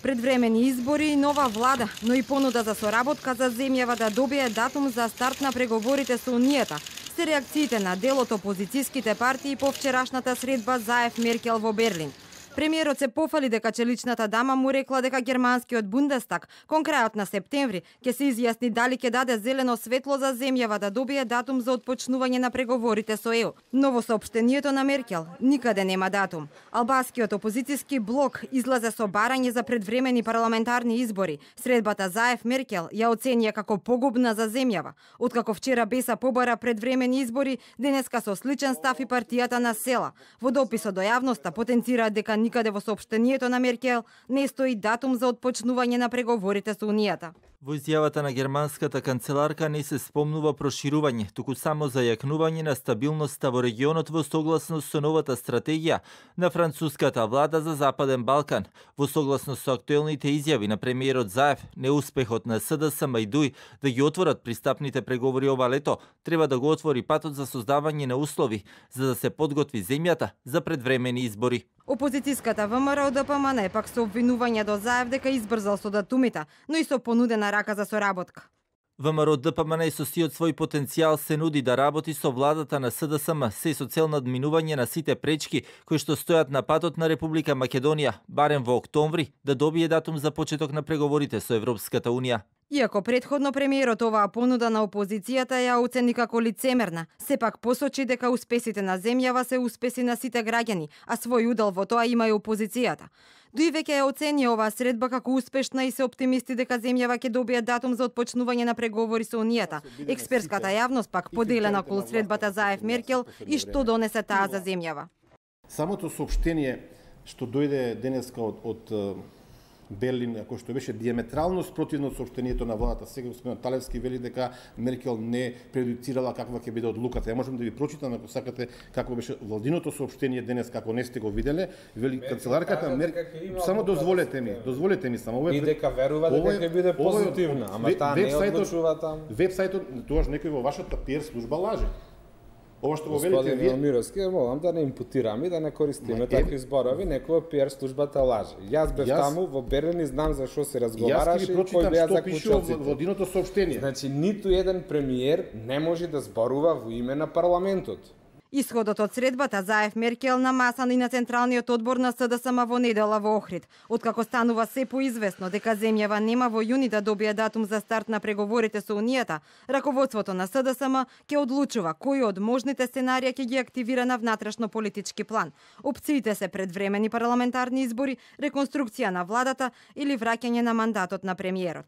Предвремени избори и нова влада, но и понуда за соработка за земјава да добие датум за старт на преговорите со Унијата, се реакциите на дел од опозицијските партии по вчерашната средба Заев-Меркел во Берлин. Премиерот се пофали дека челичната дама му рекла дека германскиот Бундестаг кон крајот на септември ќе се изјасни дали ќе даде зелено светло за земјава да добие датум за отпочнување на преговорите со ЕУ. Но во соопштението на Меркел никаде нема датум. Албанскиот опозицијски блок излезе со барање за предвремени парламентарни избори. Средбата Заев-Меркел ја оценија како погубна за земјава. Откако вчера Беса побара предвремени избори, денеска со сличен став и партијата на Села. Во дописот до јавноста потенцираат дека никаде во соопштението на Меркел не стои датум за отпочнување на преговорите со Унијата. Во изјавата на германската канцеларка не се спомнува проширување, туку само зајакнување на стабилноста во регионот во согласност со новата стратегија на француската влада за Западен Балкан. Во согласност со актуелните изјави на премиерот Заев, неуспехот на СДСМ и ДУИ да ги отворат пристапните преговори ова лето, треба да го отвори патот за создавање на услови за да се подготви земјата за предвремени избори. Опозицијската ВМРО ДПМН пак со обвинување до Заев дека избрзал со датумите, но и со понудена рака за соработка. ВМРО ДПМН со сиот свој потенцијал се нуди да работи со владата на СДСМ, се со цел надминување на сите пречки кои што стојат на патот на Република Македонија, барем во октомври, да добие датум за почеток на преговорите со Европската Унија. Иако предходно премиерот оваа понуда на опозицијата ја оцени како лицемерна, сепак посочи дека успесите на земјава се успеси на сите граѓани, а свој удел во тоа има и опозицијата. Дуи веќе ја оцени оваа средба како успешна и се оптимисти дека земјава ќе добие датум за отпочнување на преговори со Унијата. Експертската јавност пак поделена околу средбата Заев-Меркел и што донесе таа за земјава. Самото соопштение што дојде денеска од Берлин, кој што беше диаметрално спротивно од соопштението на владата. Сега господин Талевски вели дека Меркел не предуцирала каква ќе биде одлуката. Ја можам да ви прочитам ако сакате како беше владиното соопштение денес, како не сте го виделе. Вели канцеларката Меркел, само дозволете ми само. И дека верува дека ќе биде позитивна, ама таа не одлучува таму. Вебсајтот тогаш некој во вашата PR служба лаже. Ова што го велите вие, Мировски, молам да не импутираме и да не користиме такви зборови, некоја PR службата лаже. Јас бев таму во Берлин и знам за што се разговараше и кој беа заклучоците. Во владиното соопштение. Значи ниту еден премиер не може да зборува во име на парламентот. Исходот од средбата Заев-Меркел на масата и на Централниот одбор на СДСМ во недела во Охрид. Откако станува се поизвестно дека земјава нема во јуни да добие датум за старт на преговорите со Унијата, раководството на СДСМ ќе одлучува кои од можните сценарија ќе ги активира на внатрешно политички план. Опциите се предвремени парламентарни избори, реконструкција на владата или враќање на мандатот на премиерот.